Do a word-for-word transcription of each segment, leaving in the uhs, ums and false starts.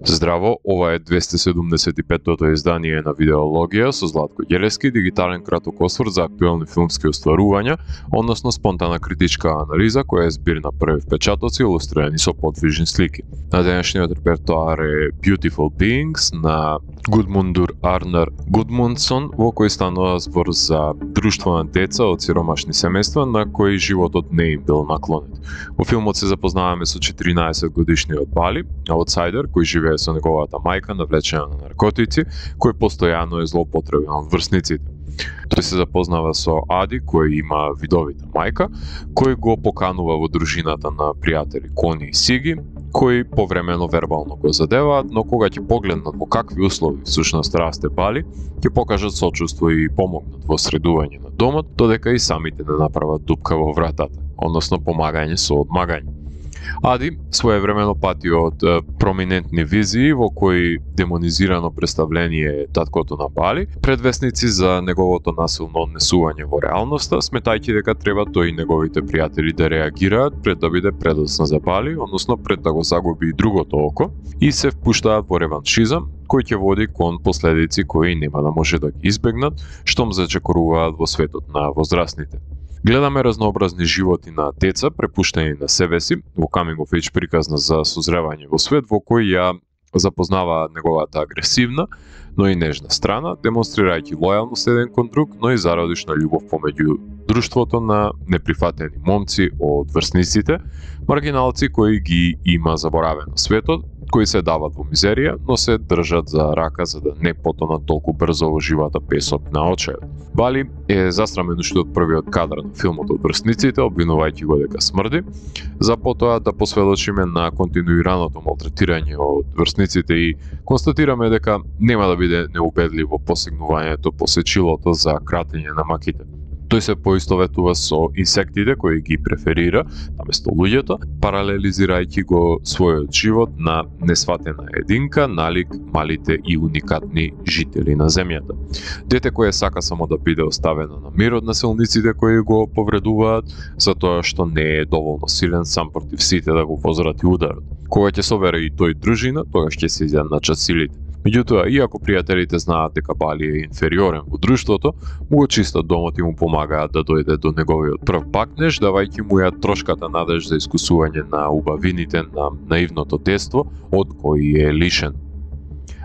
Здраво, ова е двесте седумдесет и петтото издание на Видеологија со Златко Ѓелевски, дигитален краток осврт за актуелни филмски остварувања, односно спонтана критичка анализа која е збир на први впечатоци илустрирани со подвижни слики. На денешниот репертоар е Beautiful Beings на Гудмундур Арнар Гудмундсон, во кој станува збор за друштво на деца од сиромашни семејства на кои животот не им бил наклонет. Во филмот се запознаваме со четиринаесет годишниот Бали, аутсайдер кој живее со неговата мајка навлечена на наркотици, кој постојано е злоупотребен од врсниците. Тој се запознава со Ади, кој има видовита мајка, кој го поканува во дружината на пријатели Кони и Сиги, кои повремено вербално го задеваат, но кога ќе погледнат во какви услови всушност расте Бали, ќе покажат сочувство и помогнат во средување на домот, додека и самите не направат дупка во вратата, односно помагање со одмагање. Ади своевремено пати од е, проминентни визии во кои демонизирано представление е таткото на Бали, предвесници за неговото насилно однесување во реалноста, сметајќи дека треба тој и неговите пријатели да реагираат пред да биде предоцна за Бали, односно пред да го загуби и другото око, и се впуштаат во реваншизам, кој ќе води кон последици кои нема да може да ги избегнат, штом зачекоруваат во светот на возрастните. Гледаме разнообразни животи на деца препуштени на себе си, во coming of age приказна за созревање во свет во кој ја запознава неговата агресивна, но и нежна страна, демонстрирајќи лојалност еден кон друг, но и зародишна љубов помеѓу друштвото на неприфатени момци од врсниците, маргиналци кои ги има заборавено светот, кои се дават во мизерија, но се држат за рака за да не потонат толку брзо во живата песок на очајот. Бали е засрамен уште од првиот кадар на филмот од врсниците, обвинувајќи го дека смрди, за потоа да посведочиме на континуираното малтретирање од врсниците и констатираме дека нема да биде неубедливо посегнувањето по сечилото за кратење на маките. Тој се поистоветува со инсектите кои ги преферира наместо луѓето, паралелизирајќи го својот живот на несватена единка налик малите и уникатни жители на земјата. Дете кое сака само да биде оставено на мир од насилниците кои го повредуваат, затоа што не е доволно силен сам против сите да го возврати ударот. Кога ќе собере и тој дружина, тогаш ќе се изјадначат силите. Меѓутоа, иако пријателите знаат дека Бали е инфериорен во друштвото, му го чистат домот и му помагаат да дојде до неговиот прв пакнеж, давајќи му ја трошката надеж за искусување на убавините на наивното детство од кои е лишен.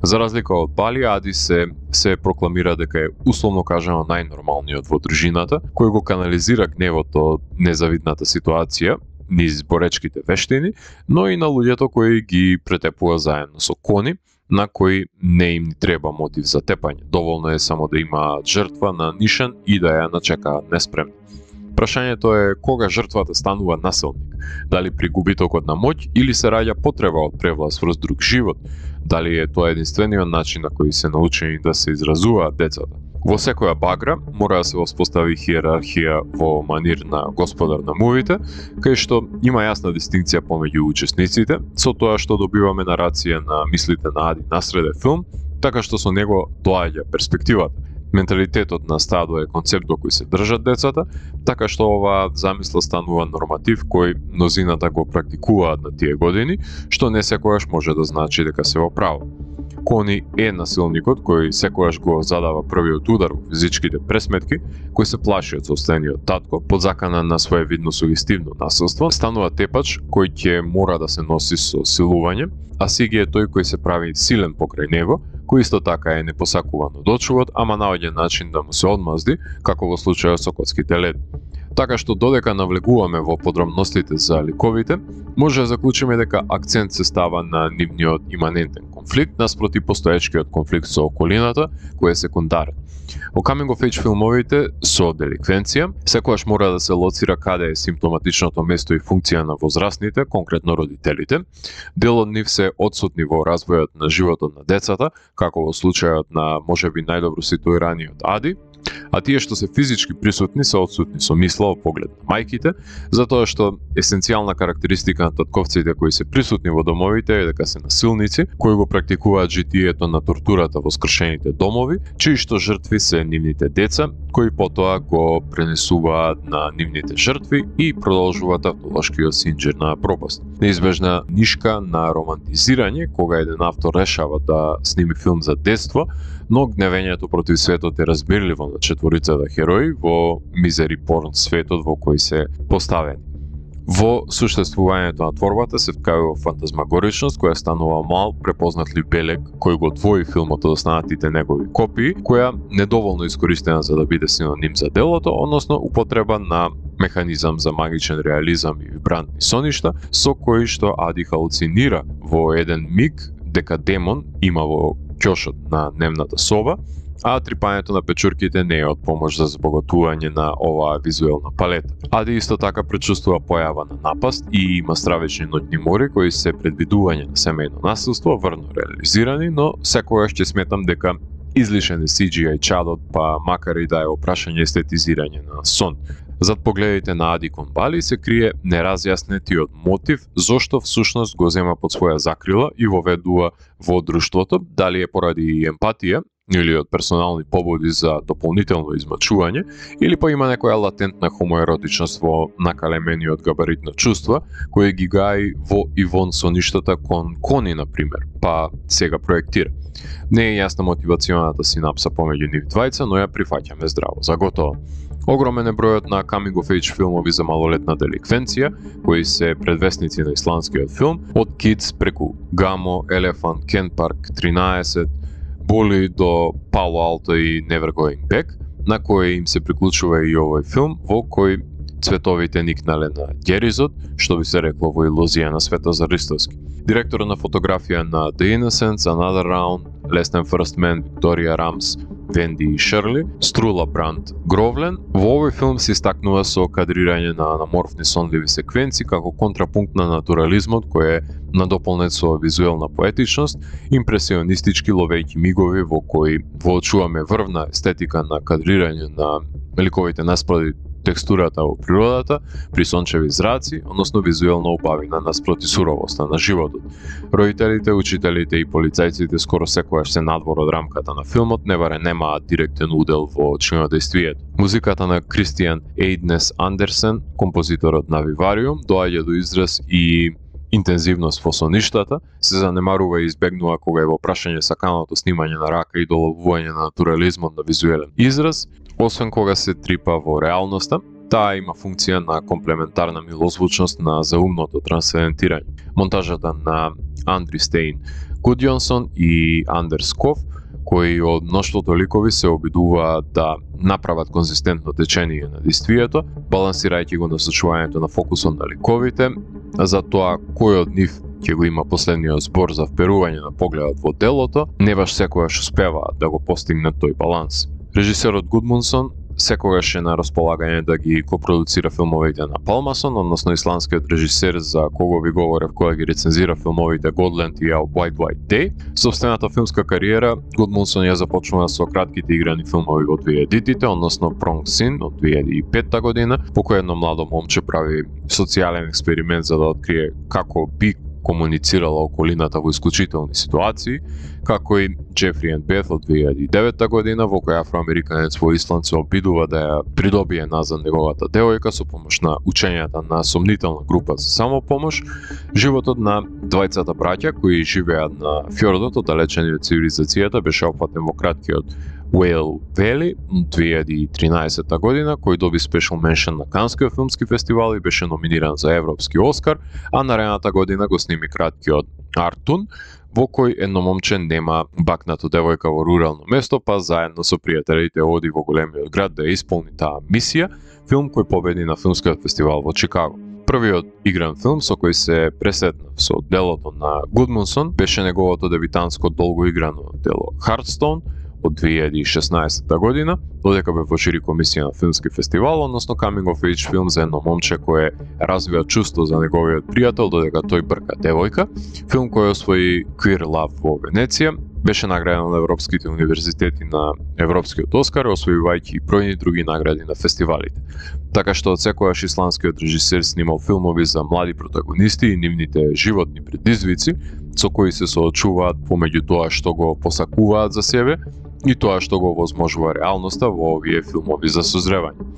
За разлика од Бали, Ади се, се прокламира дека е условно кажано најнормалниот во дружината, кој го канализира гневот од незавидната ситуација, низ боречките вештини, но и на луѓето кои ги претепува заедно со Кони, на кои не им ни треба мотив за тепање. Доволно е само да имаат жртва на нишан и да ја начекаат неспремни. Прашањето е кога жртвата станува насилник, дали при губитокот на моќ или се раѓа потреба од превлас врз друг живот, дали е тоа единствениот начин на кој се научени да се изразуваат децата. Во секоја багра мора да се воспостави хиерархија во манир на господар на мувите, кај што има јасна дистинкција помеѓу учесниците, со тоа што добиваме нарација на мислите на Ади насреде филм, така што со него доаѓа перспективата. Менталитетот на стадо е концепт до кој се држат децата, така што оваа замисла станува норматив кој мнозината го практикуваат на тие години, што не секогаш може да значи дека се во право. Кони е насилникот кој секогаш го задава првиот удар во физичките пресметки, кој се плаши од собствениот татко, под закана на своевидно сугестивно насилство, станува тепач кој ќе мора да се носи со силување, а Сиги е тој кој се прави силен покрај него, кој исто така е непосакуван од очувот, ама наоѓа начин да му се одмазди, како во случајот со коцките лед. Така што додека навлегуваме во подробностите за ликовите, може да заклучиме дека акцент се става на нивниот иманентен конфликт наспроти постоечкиот конфликт со околината, кој е секундарен. Во coming of age филмовите со деликвенција, секогаш мора да се лоцира каде е симптоматичното место и функција на возрастните, конкретно родителите. Дел од нив се одсутни во развојот на животот на децата, како во случајот на можеби најдобро ситуираниот Ади, А тие што се физички присутни се отсутни со мисла во поглед на мајките, затоа што есенцијална карактеристика на татковците кои се присутни во домовите е дека се насилници, кои го практикуваат житието на тортурата во скршените домови, чии што жртви се нивните деца, кои потоа го пренесуваат на нивните жртви и продолжуваат автолошкиот синџир на пропаст. Неизбежна нишка на романтизирање кога еден автор решава да сними филм за детство, но гневењето против светот е разбирливо на четворицата герои во мизери порн светот во кој се поставени. Во суштествувањето на творбата се вткајува фантазмагоричност која станува мал препознатлив белег кој го двои филмот од останатите негови копии, која недоволно искористена за да биде синоним за делото, односно употреба на механизам за магичен реализам и вибрантни соништа, со кои што Ади халуцинира во еден миг дека демон има во ќошот на дневната соба, а трипањето на печурките не е од помош за збогатување на оваа визуелна палета. Ади исто така пречувствува појава на напаст и има стравечни ноќни мори кои се предвидување на семејно насилство, врно реализирани, но секогаш ќе сметам дека излишен е Си Џи Ај чадот, па макар и да е опрашање естетизирање на сон. Зад погледите на Ади кон Бали се крие неразјаснетиот мотив зошто всушност го зема под своја закрила и воведува во друштвото, дали е поради емпатија или од персонални побуди за дополнително измачување, или па има некоја латентна хомоеротичност во накалемениот габарит на чувства, кој ги гаи во и вон со ништата кон кони, например, па сега проектира. Не е јасна мотивационата синапса помеѓу нив двајца, но ја прифаќаме здраво, за готово. Огромен е бројот на coming of age филмови за малолетна деликвенција, кои се предвесници на исландскиот филм, од Kids преку Гамо, Елефант, Кен Парк, тринаесет, Боли до Пало Алто и Never Going Back, на кој им се приклучува и овој филм, во кој цветовите никнале на Геризот, што би се рекло во илузија на Светозар Ристовски. Директор на фотографија на The Innocents, Another Round, Less Than First Man, Викторија Рамс, Венди и Шерли, Струла Бранд Гровлен, во овој филм се истакнува со кадрирање на анаморфни сонливи секвенции како контрапункт на натурализмот кој е надополнет со визуелна поетичност, импресионистички ловејќи мигови во кои воочуваме врвна естетика на кадрирање на ликовите наспроти текстурата во природата, при сончеви зраци, односно визуелна убавина наспроти суровоста на животот. Родителите, учителите и полицајците скоро секогаш се надвор од рамката на филмот, не баре немаат директен удел во чинодејствието. Музиката на Кристијан Ејднес Андерсен, композиторот на Вивариум, доаѓа до израз и интензивност во соништата, се занемарува и избегнува кога е во прашање саканото снимање на рака и доловување на натурализмот на визуелен израз, освен кога се трипа во реалноста. Таа има функција на комплементарна милозвучност на заумното трансцендентирање. Монтажата на Андри Стейн Гудјонсон и Андерс Ков, кои од мноштвото ликови се обидуваат да направат конзистентно течение на действието, балансирајќи го насочувањето на фокусот на ликовите, за тоа кој од нив ќе го има последниот збор за вперување на погледот во делото, не баш секогаш успеваат да го постигнат тој баланс. Режисерот Гудмунсон секогаш е на располагање да ги копродуцира филмовите на Палмасон, односно исландскиот режисер за кого ви говорев кога ги рецензира филмовите Godland и A White White Day. Собствената филмска кариера Гудмунсон ја започнува со кратките играни филмови во две тисячите, односно Prong Sin од две илјади и петта година, по кој едно младо момче прави социјален експеримент за да открие како би комуницирала околината во исклучителни ситуации, како и Джефри енд Бет од две илјади и девета година, во која афроамериканец во Исланд се обидува да ја придобие назад неговата девојка со помош на учењата на сомнителна група за самопомош. Животот на двајцата браќа кои живеат на фјордот оддалечени од цивилизацијата беше опфатен во краткиот Whale Valley две илјади и тринаесета година, кој доби спешал меншен на Канскиот филмски фестивал и беше номиниран за Европски Оскар, а наредната година го сними краткиот Артун, во кој едно момче нема бакнато девојка во рурално место, па заедно со пријателите оди во големиот град да ја исполни таа мисија, филм кој победи на филмскиот фестивал во Чикаго. Првиот игран филм со кој се пресетнав со делото на Гудмунсон беше неговото дебитанско долго играно дело Hearthstone од две илјади и шеснаесета година, додека бе во жири комисија на филмски фестивал, односно coming of age филм за едно момче кое развива чувство за неговиот пријател додека тој брка девојка, филм кој освои Queer Love во Венеција Беше награден на европските универзитети на Европскиот Оскар, освојувајќи и бројни други награди на фестивалите. Така што отсекогаш исландскиот режисер снимал филмови за млади протагонисти и нивните животни предизвици, со кои се соочуваат помеѓу тоа што го посакуваат за себе и тоа што го возможува реалноста во овие филмови за созревање.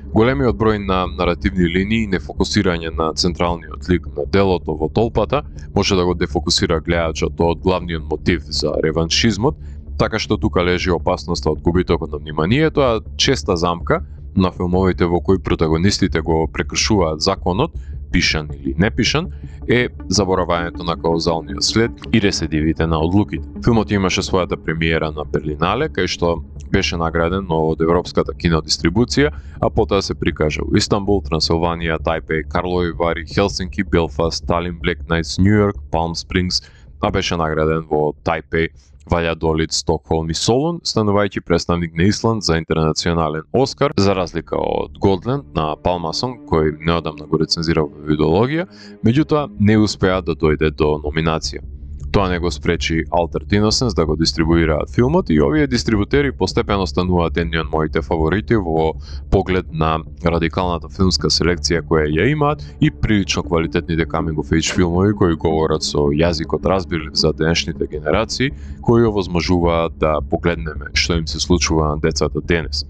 Големиот број на наративни линии и нефокусирање на централниот лик на делото во толпата може да го дефокусира гледачот од главниот мотив за реваншизмот, така што тука лежи опасноста од губитокот на вниманието, а честа замка на филмовите во кои протагонистите го прекршуваат законот, пишан или непишан, е заборавањето на каузалниот след и рецидивите на одлуките. Филмот имаше својата премиера на Берлинале, кај што беше награден од Европската кинодистрибуција, а потоа се прикажа у Истанбул, Трансилванија, Тајпеј, Карлови Вари, Хелсинки, Белфаст, Талин, Блек Најтс, Њујорк, Палм Спрингс, а беше награден во Тајпеј, Ваљадолид, Стокхолм и Солун, станувајќи представник на Исланд за интернационален Оскар, за разлика од Голдленд на Палмасон, кој неодамна го рецензирал во видеологија, меѓутоа не успеа да дојде до номинација. Тоа не го спречи Altered Innocence да го дистрибуираат филмот и овие дистрибутери постепено стануваат едни од моите фаворити во поглед на радикалната филмска селекција која ја имаат и прилично квалитетните coming of age филмови кои говорат со јазикот разбирлив за денешните генерации, кои овозможуваат да погледнеме што им се случува на децата денес.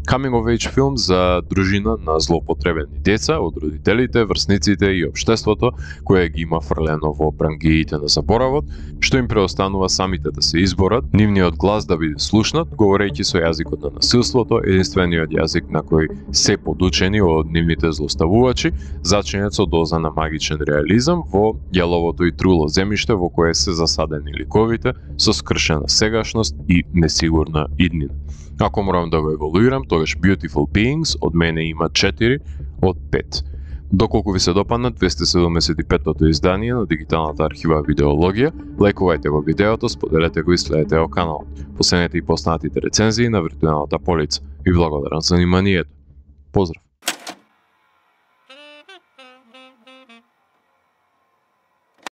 Coming of age филм за дружина на злоупотребени деца од родителите, врсниците и општеството, кое ги има фрлено во брангиите на заборавот, што им преостанува самите да се изборат, нивниот глас да биде слушнат, говорејќи со јазикот на насилството, единствениот јазик на кој се подучени од нивните злоставувачи, зачинет со доза на магичен реализам во јаловото и труло земјиште во кое се засадени ликовите со скршена сегашност и несигурна иднина. Ако морам да го еволуирам, тогаш Beautiful Beings од мене има четири од пет. Доколку ви се допадна двесте седумдесет и петтото издание на дигиталната архива Видеологија, лајкувајте го видеото, споделете го и следете го каналот. Последете и поснатите рецензии на виртуелната полица. Ви благодарам за вниманието. Поздрав!